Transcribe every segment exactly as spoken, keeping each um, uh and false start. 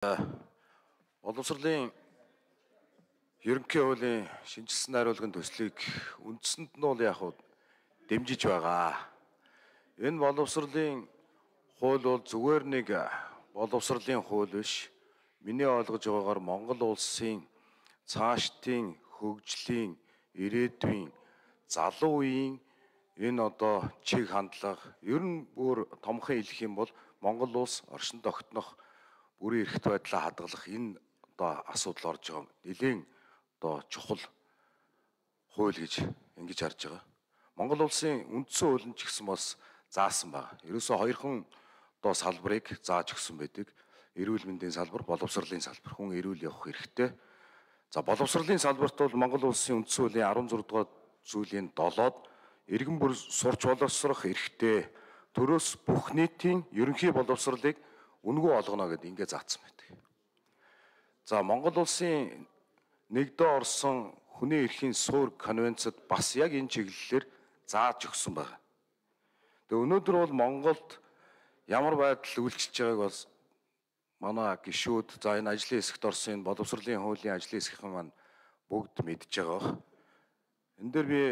Боловсролын ерөнхий хуулийн шинжилсэн хариулгын төслийг үндсэнд нь бол яг хуу дэмжиж байгаа. Энэ боловсролын хууль бол зүгээр нэг боловсролын хууль биш. Миний ойлгож байгаагаар Монгол улсын цаашдын хөгжлийн, ирээдүйн, залуу үеийн энэ одоо чиг хандлага ер нь бүр томхон хэлэх юм бол Монгол улс оршин тогтнох бүрийн эрхт байдлаа хадгалах энэ одоо асуудал орж байгаа нэлийн одоо чухал хууль гэж ингэж харж байгаа. Монгол улсын үндсэн хууль нь ч гэсэн бас заасан байна. Ерөөсөө хоёрхан одоо салбарыг зааж өгсөн байдаг. Эрүүл мэндийн салбар, боловсролын салбар. Хүн эрүүл явах хэрэгтэй. За боловсролын салбарт бол Монгол улсын үндсэн хуулийн арван зургаан дугаар зүйлийн долоод иргэн бүр сурч боловсрох эрхтэй. Төрөөс бүх нийтийн ерөнхий боловсролыг үнэгүй олгоно гэдээ ингэ заасан байдаг. За Монгол улсын нэгдээ орсон хүний эрхийн суурь конвенцэд бас яг энэ чиглэлээр зааж өгсөн байна. Тэгээ өнөөдөр бол Монголд ямар байдал үйлчилж байгааг бас манай гишүүд за энэ ажлын хэсэгт орсон энэ боловсролын хуулийн ажлын хэсгийнхэн маань бүгд мэдж байгаа. Энэ дээр би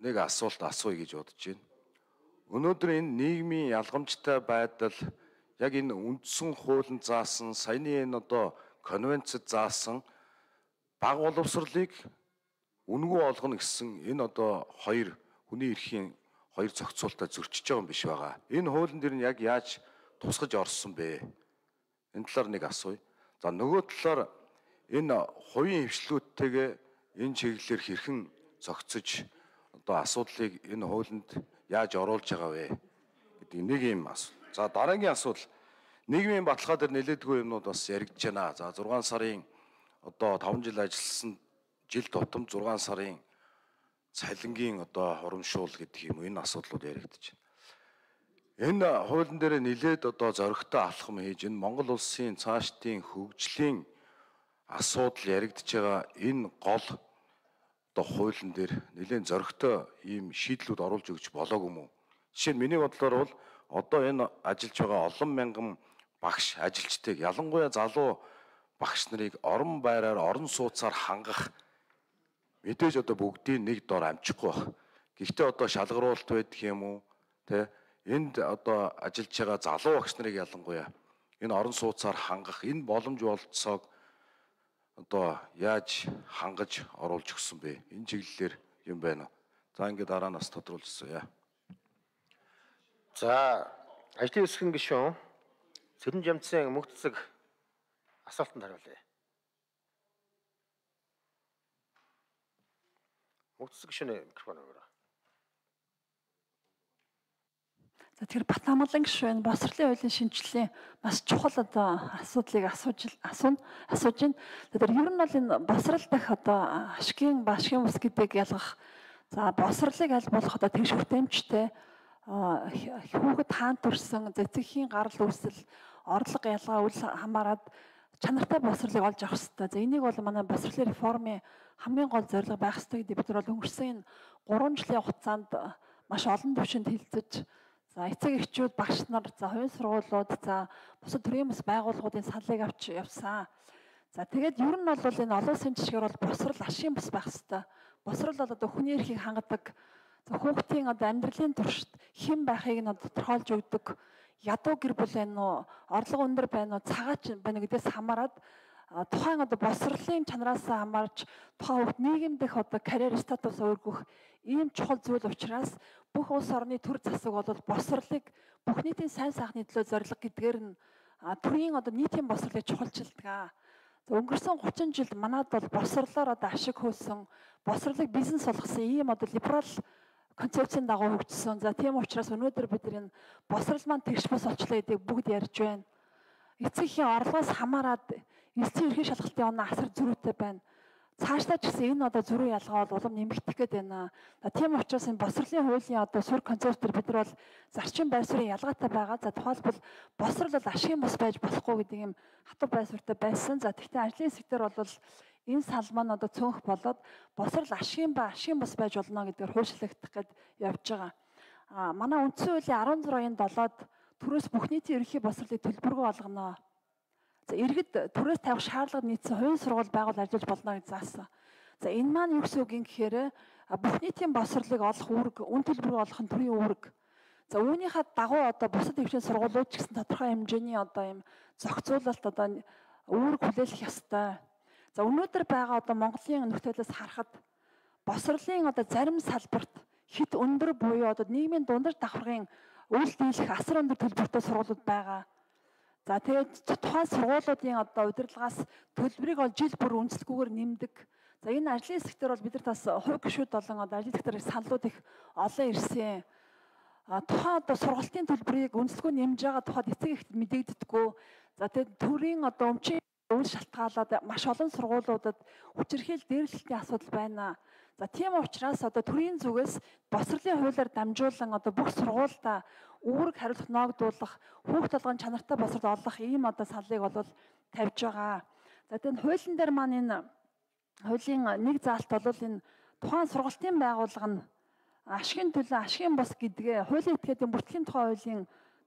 нэг асуулт асууя гэж бодож байна. Өнөөдөр энэ нийгмийн ялгамжтай байдал яг энэ үндсэн хуулинд заасан саяны энэ одоо конвенцэд заасан бага боловсролыг үнэгүй олгоно гэсэн энэ одоо хоёр хүний эрхийн хоёр зохицуулалтад зөрчиж байгаа юм биш байгаа. Энэ хуулийн дээр нь яг яаж тусгаж орсон бэ? Энэ талаар нэг асууя. За нөгөө талаар энэ хувийн хвшлүүдтэйгээ энэ чиглэлээр хэрхэн зохицож одоо асуудлыг энэ хуулинд яаж оруулж байгаа вэ гэдэг нэг юм асуу. За дараагийн асуудал нийгмийн баталгаа дээр нэлээдгүй юмнууд бас яригдж байна. За зургаан сарын одоо таван жил ажилласан жил тутам зургаан сарын цалингийн одоо хурамшуул гэдэг юм энэ асуудлууд яригдж байна. Энэ хуулийн дээр нэлээд одоо зоригтой алхам хийж энэ Монгол улсын цаашдын хөгжлийн асуудал яригдж байгаа энэ гол одоо хуулийн дээр нэлээд зоригтой ийм шийдлүүд оруулж өгч болоогүй юм уу? Жишээ нь миний бодлоор бол одоо энэ ажиллаж байгаа олон мянган багш ажилчдыг ялангуяа залуу багш нарыг орон байраар орон сууцаар хангах мэдээж одоо бүгдийн нэг дор амжихгүй баг. Гэхдээ одоо шалгаруулалт байдаг юм уу? Тэ энд одоо ажиллаж байгаа залуу багш нарыг ялангуяа энэ орон сууцаар хангах энэ боломж болцоог одоо яаж хангаж оруулж өгсөн бэ? Энэ чиглэлээр юм байна. За ингээд дараа нас тодруулчихсан яа. За ажлын хэсгийн гишүүн Цэрэн Жамцын мөгцөг асуултанд хариулъя. Мөгцөг гишүүний микрофон өгөөрэй. За тэгэхээр Батнамгалан гишүүн боловсролын хуулийн шинжилгээ маш чухал одоо асуудлыг асууж асууна асууж байна. Тэгэхээр ер нь бол энэ боловсрол дах одоо ашгийн башгийн ус гэдэг ялгах за боловсролыг аль болох одоо тэгш хүртээмжтэй хүүхэд хаан төрсөн цэцгийн гарал үүсэл орлого ялгаа үл хамааран чанартай боловсролыг олж авах хэрэгтэй. За энийг бол манай боловсролын реформын хамгийн гол зорилго байх хэрэгтэй гэдэг бид нар бол өнгөрсөн энэ гурван жилийн хугацаанд маш олон түвшинд хилцэж за эцэг эхчүүд багш нар за хувийн сургуулиуд за бусад төрийн бас байгууллагуудын саналыг авч явсан. За тэгээд ер нь бол энэ олон улсын жишгээр бол боловсрол ашийн бас байх хэрэгтэй. Боловсрол бол одоо хүний эрхийг хангадаг хүүхдийн одоо амьдралын туршид хэн байхыг нь тодорхойлж өгдөг ядуу гэр бүл байна уу орлого өндөр байна уу цагаач байна гэдгээс хамаарат тухайн одоо боловсролын чанараас хамаарч тухайн хүүхд нийгэмдэх одоо карьер статус өөргөх ийм чухал зүйл учраас бүх улс орны төр засаг бол боловсролыг бүх нийтийн сайн сайхны төлөө зорилго гэдгээр нь төрийн одоо нийтийн боловсролыг чухалчилдаг. Өнгөрсөн гучин жилд манад бол боловсролоор одоо ашиг хөөсөн боловсролыг бизнес болгосон ийм одоо либерал концепцийн дагуу хөгжсөн. За тийм учраас өнөөдөр бид энэ боловсрол маань тэгш бос олчлоо гэдгийг бүгд ярьж байна. Эцэг эхийн орлогоос хамаарат эцсийн ерхий шалгалтын оноо асар зөрүүтэй байна. Цаашдаа ч гэсэн энэ одоо зөрүү ялгаа бол улам нэмэгдэх гээд байна. За тийм учраас энэ боловсролын хуулийн одоо суурь концептээр бид нар бол зарчим байр суурийн ялгаатай байгаа. За тухайлбал боловсрол бол ашигын бус байж болохгүй гэдэг юм хатуу байр суурьтай байсан. За тэгвэл ажлын хэсгээр бол энэ сал маань одоо цөөнх болоод боловсрол ашигын ба ашигын бус байж болно гэдгээр хуульчлагдах гээд явж байгаа. А манай үндсэн хуулийн арван зургийн долоод төрөөс бүх нийтийн ерөнхий боловсролыг төлбөргүй болгоно. За иргэд төрөөс тавих шаардлага нийцсэн хувийн сургууль байгуул ажиллаж болно гэж заасан. За энэ маань юу гэсэн үг юм гэхээр бүх нийтийн боловсролыг олох үүрэг, үн төлбөрийг олох нь төрийн үүрэг. За үүнийхээ дагуу одоо бусад хэмжээний сургуулиуд ч гэсэн тодорхой хэмжээний одоо юм зохицуулалт одоо үүрэг хүлээлгэх ёстой. За өнөөдөр байгаа одоо Монголын нөхцөлөөс харахад боловсролын одоо зарим салбарт хит өндөр буюу одоо нийгмийн дундаж давхаргын үйл дийлэх асар өндөр төлбөртэй сургуулиуд байгаа. За тэгээд тухайн сургуулиудын одоо удирдлагаас төлбөрийг ол жил бүр үнэлэхгүйгээр нэмдэг. За энэ ажлын хэсгээр бол бид нар бас хувь гишүүд болон одоо ажлын хэсгээр саналууд их олон ирсэн. А тухайн одоо сургалтын төлбөрийг үнэлэхгүй нэмж байгаа тухайд эцэг эхт мэдэгддэггүй. За тэгээд төрийн одоо өмчийн үйл шалтгаалаад маш олон сургуулиудад хүчирхийл дээрлэлтийн асуудал байна. За тийм учраас одоо төрийн зүгээс боловсролын хуулиар дамжуулан одоо бүх сургуультай үүрэг хариуцлага ноогдуулах, хүүхд толгойн чанартай боловсрол олох ийм одоо саналыг бол тавьж байгаа. За тэгээд хуулийн дээр маань энэ хуулийн нэг заалт бол энэ тухайн сургалтын байгууллага нь ашигын төлөө ашигын бус гэдгээ хуулийн этгээдийн бүртгэлийн тухай хуулийн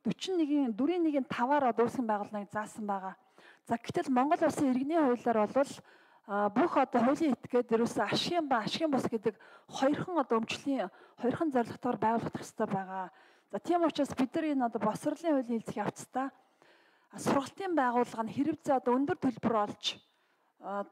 дөрвөн нэгin дөрвөн нэгin таваар өөрсгөн байгуулныг заасан байгаа. За гэтэл Монгол улсын иргэний хуулиар бол бүх одоо хуулийн этгээд ерөөсөө ашигын ба ашигын бус гэдэг хоёрхан одоо өмчлийн хоёрхан зорилготойгоор байгуулах хэрэгтэй байгаа. За тийм учраас бид нар энэ одоо боловсролын хуулийн хэлцэх явцдаа сургалтын байгууллага нь хэрэгцээ одоо өндөр төлбөр олж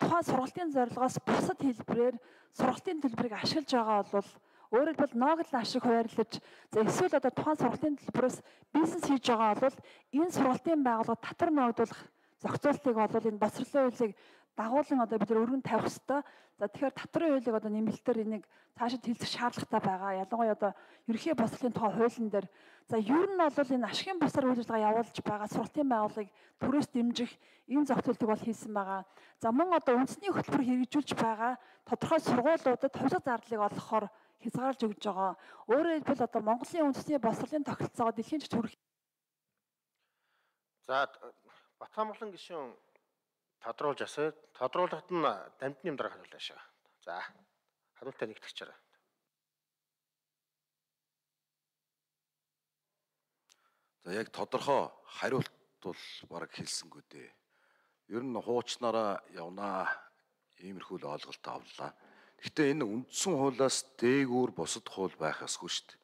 тухайн сургалтын зорилгоос бусад хэлбэрээр сургалтын төлбөрийг ашиглаж байгаа бол өөрөөр хэлбэл ноогдол ашиг хуваарлаж за эсвэл одоо тухайн сургалтын төлбөрөөс бизнес хийж байгаа бол энэ сургалтын байгууллага татвар ногдуулах зохицуултыг бол энэ боловсролын хуулийг дагуулan одоо бид нар өргөн тавих хэрэгтэй. За тэгэхээр татварын хуулийг одоо нэмэлтээр энийг цаашид хэлцэх шаардлагатай байгаа. Ялангуяа одоо ерөнхий боловсролын тухай хуулийн дээр за ер нь бол энэ ашигын бусаар үйл ажиллагаа явуулж байгаа сургалтын байгууллагыг төрөөс дэмжих энэ зохицуултыг бол хийсэн байгаа. За мөн одоо үндэсний хөтөлбөр хэрэгжүүлж байгаа тодорхой сургуулиудад хувьсгал зардлыг олгохоор хязгаарлаж өгж байгаа. Өөрөөр хэлбэл одоо Монголын үндэсний боловсролын тогтолцоогоо дэлхийн жигт хүргэх. За Батхамглан гишүүн тодруулж асуу. Тодруулахад нь дамжны юм дараа хариулна шээ. За хариултаа нэгтгэж чараа. За яг тодорхой хариулт бол бараг хэлсэнгүү дээ. Ер нь хуучнараа явнаа иймэрхүү л ойлголт авлаа. Гэхдээ энэ үндсэн хуулиас дээгүүр бусад хууль байх ёсгүй шүү дээ.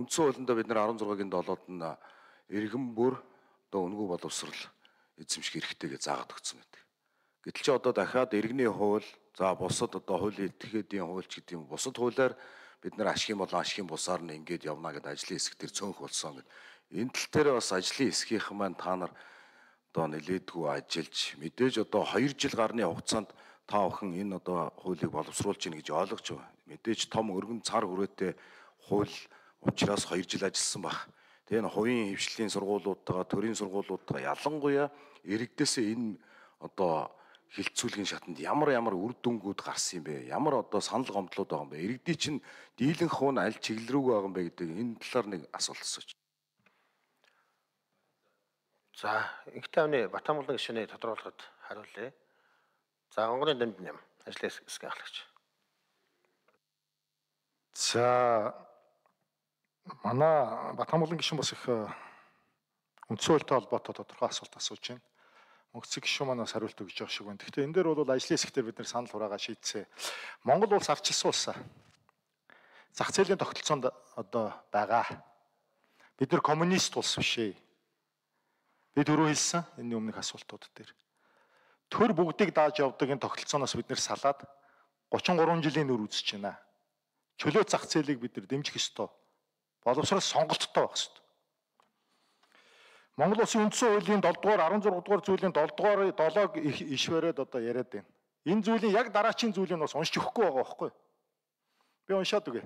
Үндсэн хуулиндаа бид нар арван зургагийн долоод нь иргэн бүр одоо үнгүй боловсрал эзэмших хэрэгтэй гэж заагаад өгсөн байдаг. Гэтэл чи одоо дахиад иргэний хууль, за бусад одоо хуулийн этгээдийн хуульч гэдэг юм бусад хуулиар бид нар ашигын болон ашигын бусаар нь ингээд явна гэдэг ажлын хэсэг төр цөөнх болсон гэдэг. Энэ тал дээр бас ажлын хэсгийнхэн маань та нар одоо нэлээдгүй ажиллаж мэдээж одоо хоёр жил гарны хугацаанд та охин энэ одоо хуулийг боловсруулж гин гэж ойлгож байгаа. Мэдээж том өргөн цар хүрээтэй хууль учраас хоёр жил ажилласан баг. Тэгээ энэ хувийн хөвшлийн сургуулиудтайгаа төрийн сургуулиудтайгаа ялангуяа иргэдээсээ энэ одоо хилцүүлгийн шатанд ямар ямар үр дүнгууд гарсан юм бэ? Ямар одоо санал гомдлууд байгаа юм бэ? Иргэдийн чинь дийлэнх хуун аль чиглэл рүү байгаа юм бэ гэдэг энэ талаар нэг асуулт асууж. За инхтэй авны Батхамглан гишүүний тодруулахад хариулъя. За онгоны дамж нэм ажлын хэсгийн ахлагч. За манай Батхамглан гишүүн бас их үндсэн хуультай холбоотой тодорхой асуулт асууж байна. Мөнгөцөг гишүүн манаас хариулт өгж байгаа шиг байна. Гэхдээ энэ дээр бол ажлын хэсгээр бид нэр санал хураагаа шийдсэн. Монгол улс ардчилсан улс. Зах зээлийн тогтолцоонд одоо байгаа. Бид нар коммунист улс биш ээ. Би түрүү хэлсэн энэ өмнөх асуултууд дээр. Төр бүгдийг дааж явдаг энэ тогтолцооноос бид нэр салаад гучин гурван жилийн нөр үзэж байна. Чөлөө зах зээлийг бид нар дэмжих ёстой. Боловсрол сонголттой байх ёстой. Монгол улсын үндсэн хуулийн долоо дугаар, арван зурга дугаар зүйлийн долоо дугаар долоог иш бариад одоо яриад байна. Энэ зүйлийн яг дараачийн зүйлийг бас уншиж өгөхгүй байгаа байхгүй. Би уншаад үгүй.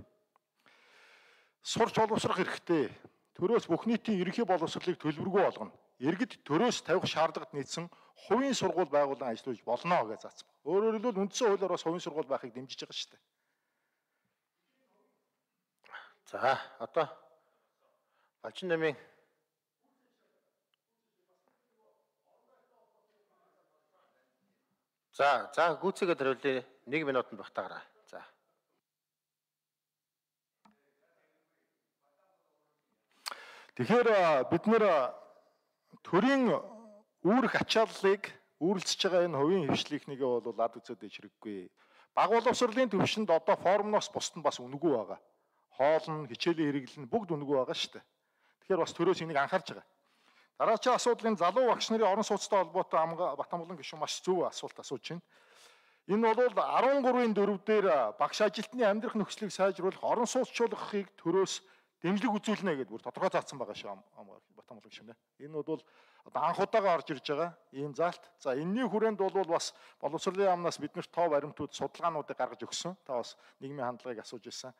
Сурч боловсрох хэрэгтэй. Төрөөс бүх нийтийн ерөнхий боловсролыг төлбөргүй болгоно. Иргэд төрөөс тавих шаардлагад нийцсэн хувийн сургууль байгуулан ажиллаж болно гэж заасан. Өөрөөр хэлбэл үндсэн хуулиар бас хувийн сургууль байхыг дэмжиж байгаа шүү дээ. За одоо Балчин намын За за гүйцэтгэд хариулъя. нэг минутанд багтаагаарай. За. Тэгэхээр бид нэр төрийн үүрэх ачааллыг үүрлцэж байгаа энэ хувийн хвшлийнхнийгээ бол ад үзээд иж хэрэггүй. Баг боловсролын төвшөнд одоо формноос бусд нь бас үнэгүй байгаа. Хоол нь, хичээлийн хэрэглэл нь бүгд үнэгүй байгаа шүү дээ. Тэгэхээр бас төрөөс энийг анхаарч байгаа. Дараагийн асуудлын залуу багш нарын орон сууцтай холбоотой Батамгалан гишүүн маш зөв асуулт асууж байна. Энэ бол арван гурвын дөрөв дээр багш ажилтны амьдрах нөхцөлийг сайжруулах, орон сууцчлуулахыг төрөөс дэмжлэг үзүүлнэ гэдээ бүр тодорхой заасан байгаа шүү Батамгалан гишүүн. Энэ бол одоо анх удаага орж ирж байгаа ийм заалт. За энэний хүрээнд бол бас боловсролын яамнаас биднэрт тоо баримтууд, судалгаануудыг гаргаж өгсөн. Та бас нийгмийн хандлагыг асууж ирсэн.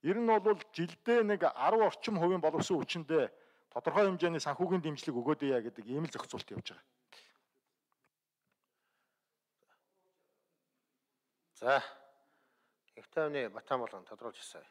Ер нь бол жилдээ нэг арав орчим хувийн боловсон хүчиндээ тодорхой хэмжээний санхүүгийн дэмжлэг өгөөд яа гэдэг ийм л зохицуулт явж байгаа. За. Ихтэй өний Батамгалан тодруулж ирсэн.